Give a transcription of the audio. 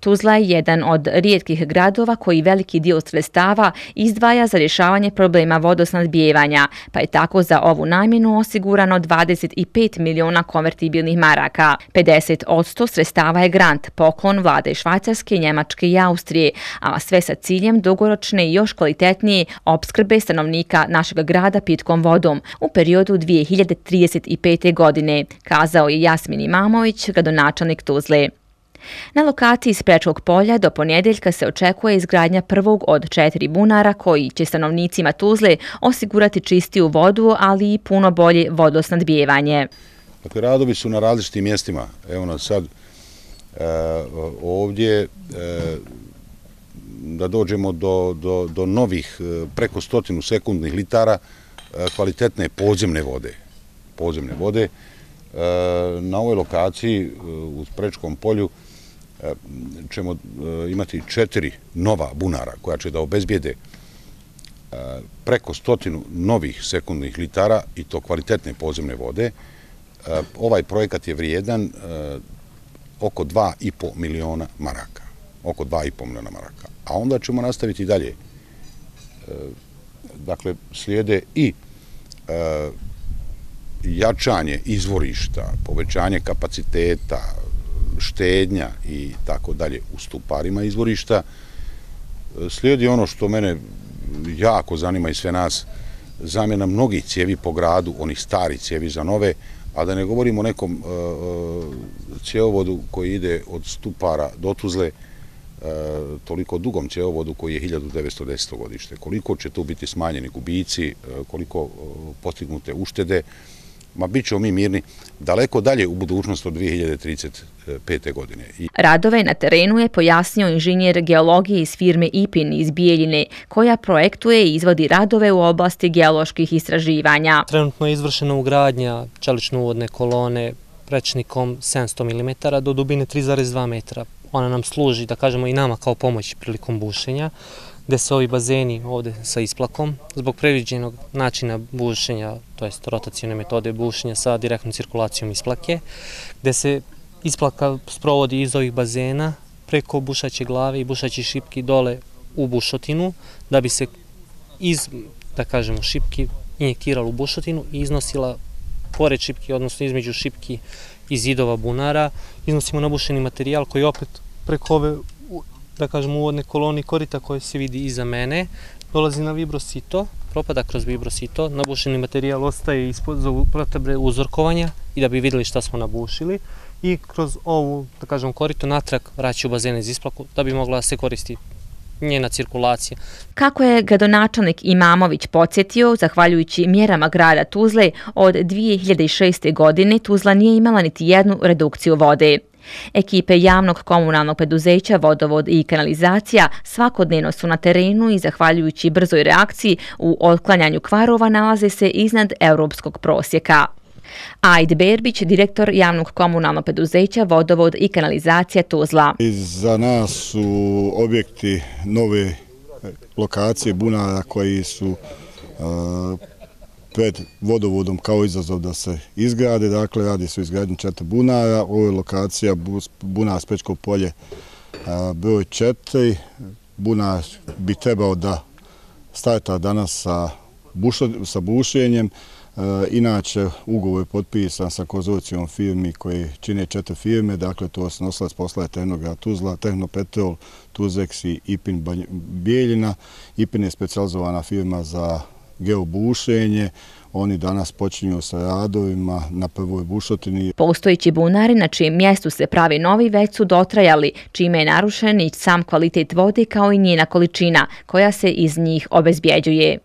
Tuzla je jedan od rijetkih gradova koji veliki dio sredstava izdvaja za rješavanje problema vodosnabdijevanja, pa je tako za ovu namjenu osigurano 25 miliona konvertibilnih maraka. 50% sredstava je grant, poklon vlade Švajcarske, Njemačke i Austrije, a sve sa ciljem dugoročne i još kvalitetnije opskrbe stanovnika našeg grada pitkom vodom u periodu 2035. godine, kazao je Jasmin Imamović, gradonačelnik Tuzle. Na lokaciji Sprečkog polja do ponedjeljka se očekuje izgradnja prvog od 4 bunara koji će stanovnicima Tuzle osigurati čistiju vodu, ali i puno bolje vodosnabdijevanje. Dakle, radovi su na različitim mjestima. Evo nas sad ovdje da dođemo do novih preko 100 sekundnih litara kvalitetne podzemne vode. Na ovoj lokaciji u Sprečkom polju ćemo imati 4 nova bunara koja će da obezbijede preko 100 novih sekundnih litara i to kvalitetne podzemne vode. Ovaj projekat je vrijedan oko 2,5 miliona maraka. A onda ćemo nastaviti dalje. Dakle, slijede i jačanje izvorišta, povećanje kapaciteta, štednja i tako dalje u stuparima izvorišta. Slijedi ono što mene jako zanima i sve nas, zamjena mnogih cijevi po gradu, onih starih cijevi za nove, a da ne govorimo o nekom cjevovodu koji ide od Stupara do Tuzle, toliko dugom cjevovodu koji je 1910. godište. Koliko će tu biti smanjeni gubici, koliko postignute uštede, bit ćemo mi mirni daleko dalje u budućnost od 2035. godine. Radove na terenu je pojasnio inženjer geologije iz firme IPIN iz Bijeljine, koja projektuje i izvodi radove u oblasti geoloških istraživanja. Trenutno je izvršena ugradnja čelično-uvodne kolone rečnikom 700 mm do dubine 3,2 metra. Ona nam služi, da kažemo, i nama kao pomoć prilikom bušenja, gdje se ovi bazeni ovdje sa isplakom, zbog predviđenog načina bušenja, to jest rotacijone metode bušenja sa direktnom cirkulacijom isplake, gdje se isplaka sprovodi iz ovih bazena preko bušaće glave i bušaće šipki dole u bušotinu, da bi se iz, da kažemo, šipki injektirala u bušotinu i iznosila pored šipki, odnosno između šipki i zidova bunara, iznosimo nabušeni materijal koji opet preko ove, da kažemo, uvodne kolone korita koje se vidi iza mene, dolazi na vibrosito, propada kroz vibrosito, nabušeni materijal ostaje ispod za potrebe uzorkovanja i da bi vidjeli šta smo nabušili i kroz ovu, da kažemo, korito natrag vraća u bazene iz isplaku da bi mogla se koristiti njena cirkulacija. Kako je gradonačelnik Imamović podsjetio, zahvaljujući mjerama grada Tuzle, od 2006. godine Tuzla nije imala niti jednu redukciju vode. Ekipe javnog komunalnog preduzeća Vodovod i kanalizacija svakodnevno su na terenu i zahvaljujući brzoj reakciji u otklanjanju kvarova nalaze se iznad europskog prosjeka. Ajd Berbić, direktor javnog komunalnog preduzeća Vodovod i kanalizacija Tuzla. Za nas su objekti nove lokacije bunara koji su pred vodovodom kao izazov da se izgrade. Dakle, radi se o izgradnji 4 bunara. Ovo je lokacija bunar Sprečko polje broj 4. Bunar bi trebao da starta danas sa bušenjem. Inače, ugovor je potpisan sa konzorcijom firmi koji čine 4 firme, dakle to su nosilac posla je Tehnograd Tuzla, Tehnopetrol, Tuzex i IPIN Bijeljina. IPIN je specijalizovana firma za geobušenje. Oni danas počinju sa radovima na prvoj bušotini. Postojeći bunari na čijem mjestu se pravi novi već su dotrajali, čime je narušen i sam kvalitet vode kao i njena količina koja se iz njih obezbjeđuje.